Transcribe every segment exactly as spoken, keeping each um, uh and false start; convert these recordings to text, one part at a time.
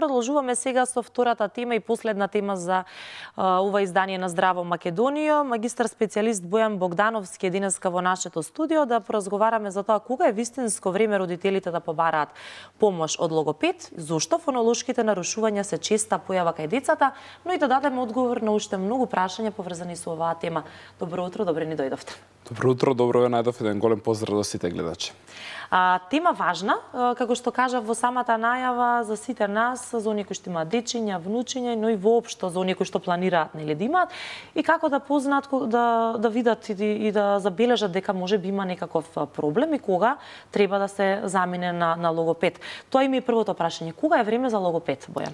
Продолжуваме сега со втората тема и последна тема за а, ова издание на Здраво Македонија. Магистар специјалист Бојан Богдановски е денеска во нашето студио да поразговараме за тоа кога е вистинско време родителите да побараат помош од логопед, зошто фонолошките нарушувања се честа појава кај децата, но и да дадеме одговор на уште многу прашања поврзани со оваа тема. Добро утро, добре ни дојдовте. Добро утро, добро ве најдов, еден голем поздрав до сите гледачи. А, тема важна, како што кажа во самата најава за сите нас, за оние кои што имаат дечиња, внучиња, но и воопшто за оние кои што планираат нели да имаат и како да познаат, да да видат и, и да забележат дека може би има некаков проблем и кога треба да се замине на на логопед. Тоа им е првото прашање. Кога е време за логопед, Бојан?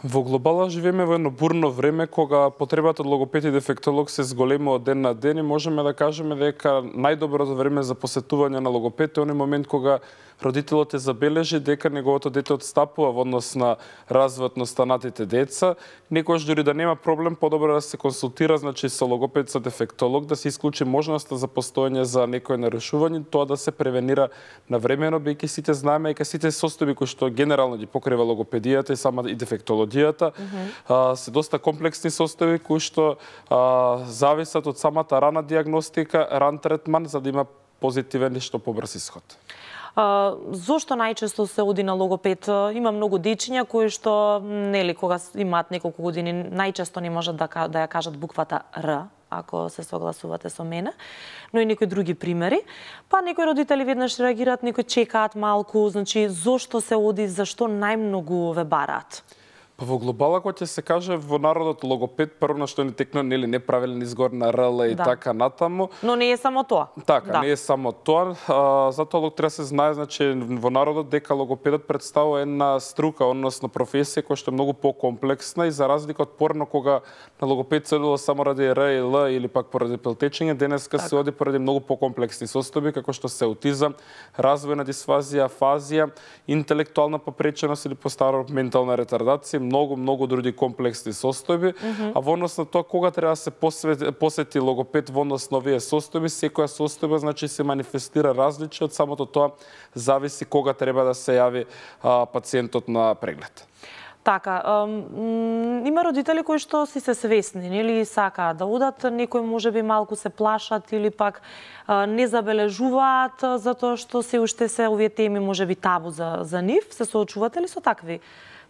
Во глобала живееме во едно бурно време кога потребата од логопед и дефектолог се зголемува од ден на ден и можеме да кажеме дека најдоброто време за посетување на логопед е оној момент кога родителот е забележи дека неговото дете отстапува во однос на развојот на останатите деца. Некојаш дури да нема проблем, подобро да се консултира, значи со логопед, со дефектолог, да се исклучи можноста за постоење за некој нарушување, тоа да се превенира навремено, бидејќи сите знаеме дека сите состојби кои што генерално ги покрива логопедијата и сама и дефектологијата mm-hmm. а, се доста комплексни состојби кои што а, зависат од самата рана диагностика, ран третман за да има позитивен и што побрз исход. А, зошто најчесто се оди на логопед? Има многу дечиња кои што нели кога имаат неколку години најчесто не можат да да ја кажат буквата Р, ако се согласувате со мене, но и некои други примери. Па некои родители веднаш реагираат, некои чекаат малку, значи зошто се оди, зашто најмногу ве бараат? Па во глобала кога ќе се каже во народот логопед, прво на што ни текна нели неправилен изгор на РЛ и да. така натаму. Но не е само тоа. Така, да. не е само тоа. А, затоа лог треба се знае, значи во народот дека логопедот представува една струка, односно професија која што е многу покомплексна и за разлика од порано кога на логопед се одило само ради Р и Л или пак поради пелтечење, денеска так. се оди поради многу покомплексни состојби како што се аутизам, развојна дисфазија, афазија, интелектуална попреченост или постаро ментална ретардација, многу, многу други комплексни состојби, mm -hmm. а во однос на тоа кога треба да се посвети, посети логопед во однос на овие состојби, секоја состојба значи се манифестира различно, од самото тоа зависи кога треба да се јави а, пациентот на преглед. Така, ем, има родители кои што си се свесни, нели сакаат да одат, некои можеби малку се плашат или пак а, не забележуваат затоа што се уште се овие теми можеби табу за за нив. Се соочувате ли со такви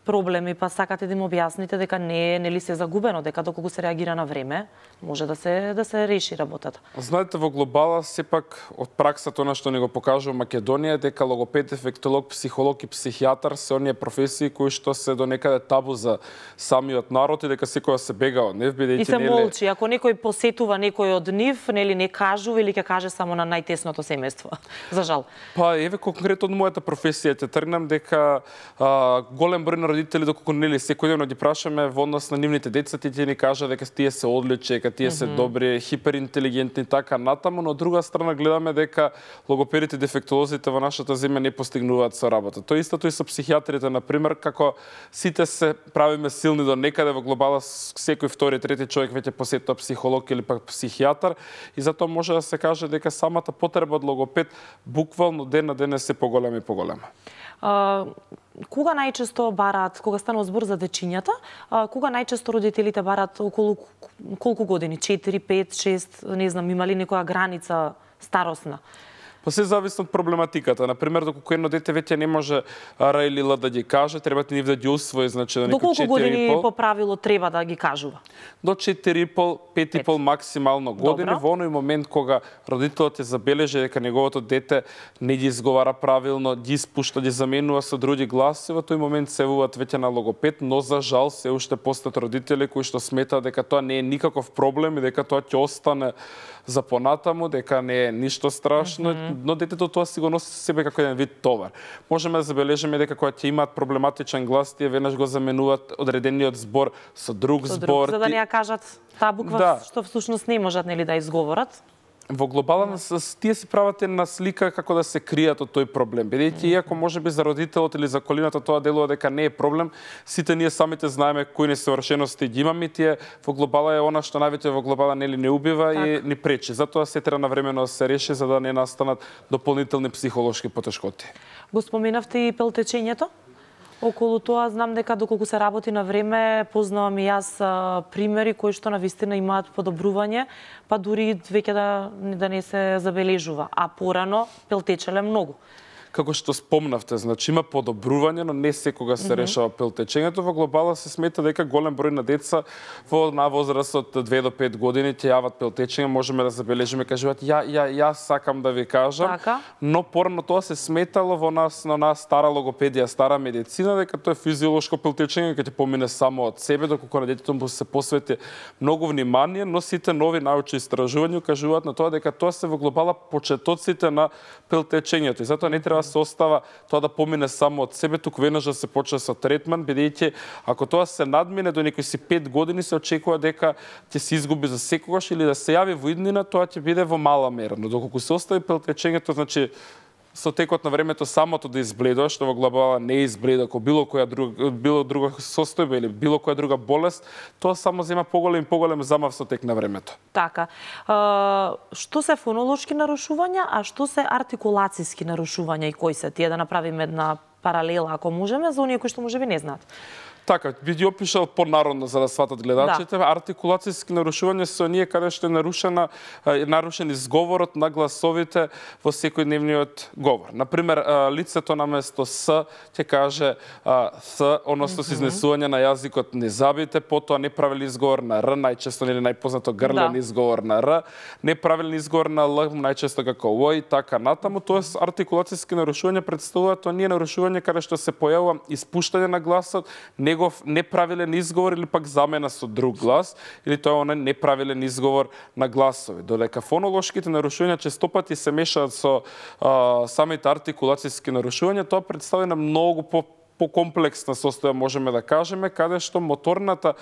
проблеми, па сакате да им објасните дека не е нели се загубено, дека доколку се реагира на време, може да се да се реши работата. Знаете, во глобала сепак од праксата она што ни го покажува Македонија дека логопед, дефектолог, психолог и психијатар се оние професии кои што се до некаде табу за самиот народ и дека секоја се бега од нив, бидејќи и се нели... молчи, ако некој посетува некој од нив, нели не кажува или ќе каже само на најтесното семејство. За жал. Па еве конкретно од мојата професија ќе тргнам дека а, голем број на родители доколку нели секојдневно ги прашаме во однос на нивните деца, тие ни кажа дека тие се одлични, дека тие се mm -hmm. добри, хиперинтелигентни така натаму, но од друга страна гледаме дека логопедите и дефектолозите во нашата земја не постигнуваат со работа. Тоа истото и со психијатрите, на пример, како сите се правиме силни до некаде во глобала, секој втори, трети човек веќе посетува психолог или пак психијатар и затоа може да се каже дека самата потреба од логопед буквално ден на ден е се поголема и поголема. Uh, кога најчесто бараат, кога станува збор за дечињата, uh, кога најчесто родителите бараат околу колку години? четири, пет, шест, не знам, има ли некоја граница старосна? Па се зависи од проблематиката. Например, доколку едно дете веќе не може Р или Л да ги каже, треба нив да ги усвои, значи до некој четири и пол. До колку години по правило треба да ги кажува? До четири и пол, пет и пол максимално години. Добро. Во оној момент кога родителот е забележи дека неговото дете не ги изговара правилно, ги испушта, ги заменува со други гласи, во тој момент се јавуваат веќе на логопед, но за жал се уште постојат родители кои што сметаат дека тоа не е никаков проблем и дека тоа ќе остане за понатаму, дека не е ништо страшно, mm -hmm. но детето тоа си го носи со себе како еден вид товар. Можеме да забележиме дека кога ќе имаат проблематичен глас, тие веднаш го заменуваат одредениот збор со друг со збор. Друг, за да не ја кажат таа буква да. што всушност не можат нели да изговорат. Во глобала mm. тие си прават една слика како да се кријат од тој проблем. Бидејќи mm. иако можеби за родителот или за колината тоа делува дека не е проблем, сите ние самите знаеме кои несовршености ги имаме, тие во глобала е она што највеќе во глобала нели не убива так. и ни пречи. Затоа се треба навремено да се реши за да не настанат дополнителни психолошки потешкоти. Го споменавте и пелтечењето? Околу тоа знам дека доколку се работи на време, познавам и јас а, примери кои што навистина имаат подобрување, па дури веќе да, да не се забележува, а порано пелтечеле многу. Како што спомнавте, значи има подобрување, но не секога се решава пелтечењето. Во глобала се смета дека голем број на деца во на возраст од две до пет години ќе јават пелтечење, можеме да забележиме, кажуваат ја ја јас сакам да ви кажам, така? Но порано тоа се сметало во нас на нас стара логопедија, стара медицина дека тоа е физиолошко пелтечење ќе ти помине само од себе, доколку на детето му се посвети многу внимание, но сите нови научни истражувања кажуваат на тоа дека тоа се во глобала почетоците на пелтечењето и затоа не треба да се остава тоа да помине само од себе, туку веднаш да се почне со третман, бидејќи ако тоа се надмине до некои си пет години, се очекува дека ќе се изгуби за секогаш или да се јави во иднина, тоа ќе биде во мала мера. Но доколку се остави пелтечењето, значи со текот на времето самото да избледува, што во глобала не избледа како било која друга, било друга состојба или било која друга болест, тоа само зема поголем и поголем замав со тек на времето. Така. А, што се фонолошки нарушувања, а што се артикулацијски нарушувања и кои се тие, да направиме една паралела ако можеме за оние кои што можеби не знаат? Така, би ги опишал понародно за да сватат гледачите. Да. Артикулацијски нарушувања се оние каде што е нарушена е нарушен изговорот на гласовите во секојдневниот говор. Например, лицето наместо с ќе каже с, односно се изнесување на јазикот незабите, потоа неправилен изговор на р, најчесто или најпознато грлен да. изговор на р, неправилен изговор на л, најчесто како о и така натаму. Тоест артикулацијски нарушувања представуваат оние нарушувања каде што се појавува испуштање на гласот, негов неправилен изговор или пак замена со друг глас, или тоа е оној неправилен изговор на гласови. Додека фонолошките нарушувања честопати се мешаат со а, самите артикулацијски нарушувања, тоа представува многу по покомплексна состојба можеме да кажеме, каде што моторната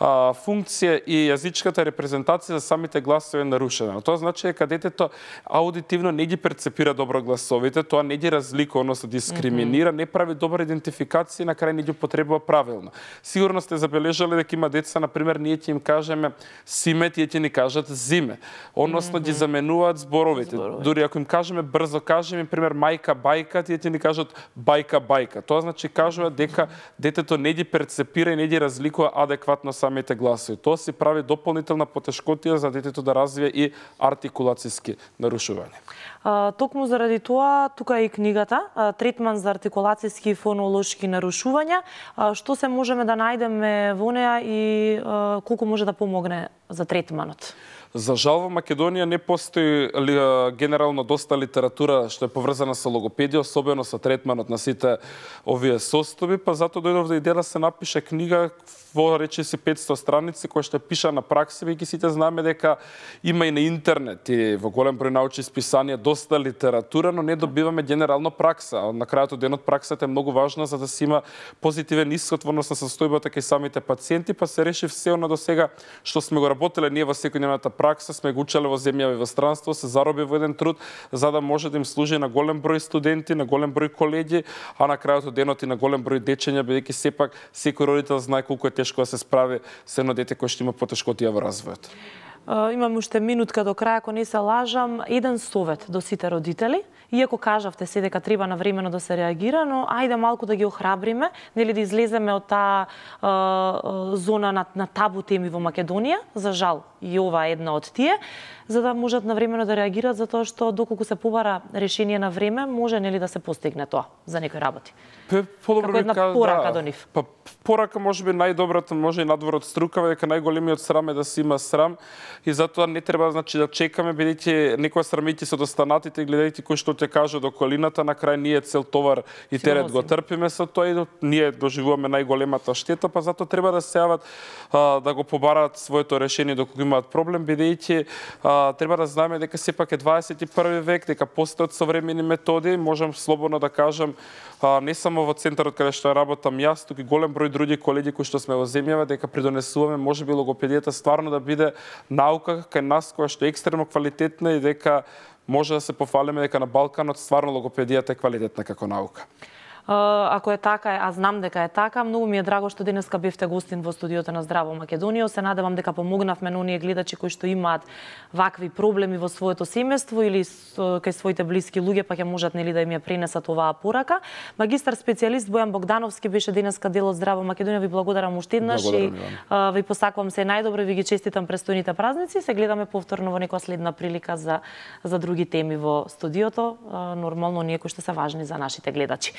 а, функција и јазичката репрезентација за самите гласови е нарушена. Тоа значи дека детето аудитивно не ги перцепира добро гласовите, тоа не ги разликува, односно дискриминира, не прави добра идентификација и на крај не ги употребува правилно. Сигурно сте забележале дека има деца, на пример, ние ќе им кажеме симе, тие ќе ни кажат зиме, односно ги заменуваат зборовите. Зборови. Дури ако им кажеме брзо, кажеме, пример, мајка, бајка, тие ќе ни кажат бајка, бајка. Тоа значи кажува дека детето не ги перцепира и не ги разликува адекватно самите гласови. Тоа си прави дополнителна потешкотија за детето да развие и артикулацијски нарушувања. А, токму заради тоа, тука е и книгата, а, третман за артикулацијски и фонолошки нарушувања. А, што се можеме да најдеме во неа и а, колку може да помогне за третманот? За жал во Македонија не постои генерално доста литература што е поврзана со логопедија, особено со третманот на сите овие состојби, па затоа дојдов да идеја да се напише книга во речиси петсто страници која што пиша на пракса, веќе сите знаеме дека има и на интернет и во голем број научни списанија доста литература, но не добиваме генерално пракса. На крајот од денот праксата е многу важна за да се има позитивен исход во однос на состојбата кај самите пациенти, па се реши се она до сега што сме го работеле ние во секојдневната пракса, сме го учеле во земја и во странство, се зароби во еден труд за да може да им служи на голем број студенти, на голем број колеги, а на крајот од денот и на голем број дечења, бидејќи сепак секој родител знае колку е тешко да се справи со едно дете кое што има потешкотија во развојот. Имам уште минутка до крај, ако не се лажам, еден совет до сите родители. Иако кажавте се дека треба навремено да се реагира, но ајде малку да ги охрабриме, нели да излеземе од таа зона на, на табу теми во Македонија, за жал и ова е една од тие, за да можат навремено да реагираат, затоа што доколку се побара решение на време, може нели да се постигне тоа за некои работи. Подобро како една каз... порака да. до нив. Па порака можеби најдобрата, може и надвор од струкава, дека најголемиот срам е да се има срам и затоа не треба значи да чекаме, бидејќи некоја срамејќи се достанатите и гледајќи кој што ќе каже до колината, на крај ние цел товар и терет го трпиме со тоа и ние доживуваме најголемата штета, па затоа треба да се јават а, да го побараат своето решение доколку имаат проблем, бидејќи треба да знаеме дека сепак е дваесет и први век, дека постојат современи методи, можам слободно да кажам, а, не само во центарот каде што работам јас, туку и голем број други колеги кои што сме во земјава, дека придонесуваме можеби логопедијата стварно да биде наука кај нас која што е екстремно квалитетна и дека може да се пофалиме дека на Балканот стварно логопедијата е квалитетна како наука. Ако е така, а знам дека е така, многу ми е драго што денеска бевте гостин во студиото на Здраво Македонија. Се надевам дека помогнавме на оние гледачи кои што имаат вакви проблеми во своето семејство или кај своите блиски луѓе, па ќе можат нели да им ја пренесат оваа порака. Магистар специјалист Бојан Богдановски беше денеска дел од Здраво Македонија. Ви благодарам уште еднаш и ви посакувам се најдобро, ви ги честитам престојните празници. Се гледаме повторно во некоја следна прилика за за други теми во студиото, нормално оние кои што се важни за нашите гледачи.